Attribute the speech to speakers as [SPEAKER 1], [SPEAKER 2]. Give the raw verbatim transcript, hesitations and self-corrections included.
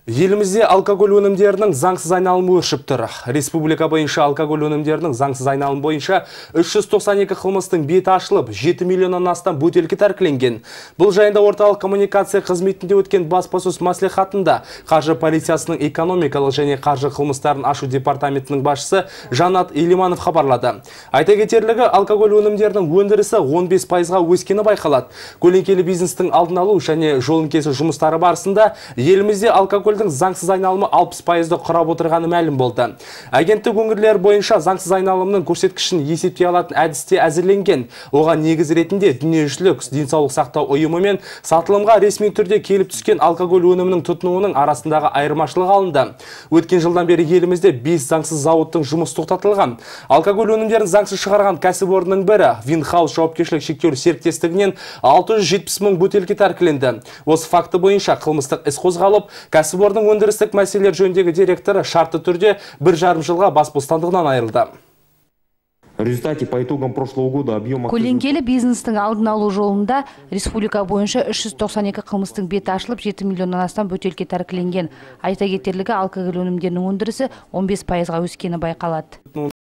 [SPEAKER 1] Елімізде алкоголь өнімдерінің заңсыз айналымы өршіп тұр. Республика бойынша алкоголь өнімдерінің заңсыз айналымы бойынша үш жүз тоқсан екі қылмыстың беті ашылып, жеті миллионнан астам бөтелке тәркіленген. Бұл жайында орталық коммуникация қызметінде өткен баспасөз мәслихатында қаржы полициясының экономикалық және қаржы қылмыстарын ашу департаментінің басшысы Жанат Елиманов хабарлады. Айта кетерлігі, алкоголь өнімдерінің өндірісі он бес пайызға өскені байқалады. Көлеңкелі бизнестің алдын алу және жолын кесу жұмыстары барысында елімізде алкоголь заңсыз айналымы алпыс пайызды құрап отырғаны мәлім болды. Агенттік өңірлер бойынша заңсыз айналымның көрсеткішін есептей алатын әдісте әзірленген. Оған негіз ретінде дүниежүзілік денсаулық сақтау ұйымы мен сатылымға ресми түрде келіп түскен алкоголь өнімінің тұтынуының арасындағы айырмашылық алынды. Өткен жылдан бері елімізде бес заңсыз зауыттың жұмысы тоқтатылған. Алкоголь өнімдерін заңсыз шығарған кәсіпорынның бірі Винхаус жауапкершілігі шектеулі серіктестігінен алты жүз жетпіс мың бөтелке тәркіленді. Осы факті бойынша қылмыстық іс қозғалып, кәсіпорын Орның өндірістік мәселелер жөніндегі директоры шартты түрде бір жарым жылға бас бостандығынан айырылды.
[SPEAKER 2] Көлеңкелі бизнестің алдын алу жолында республика бойынша үш жүз тоқсан екі қылмыстың беті ашылып, жеті миллионнан астам бөтелке тәркіленген. Айта кетерлігі, алкоголь өнімдерінің өндірісі он бес пайызға өскені байқалады.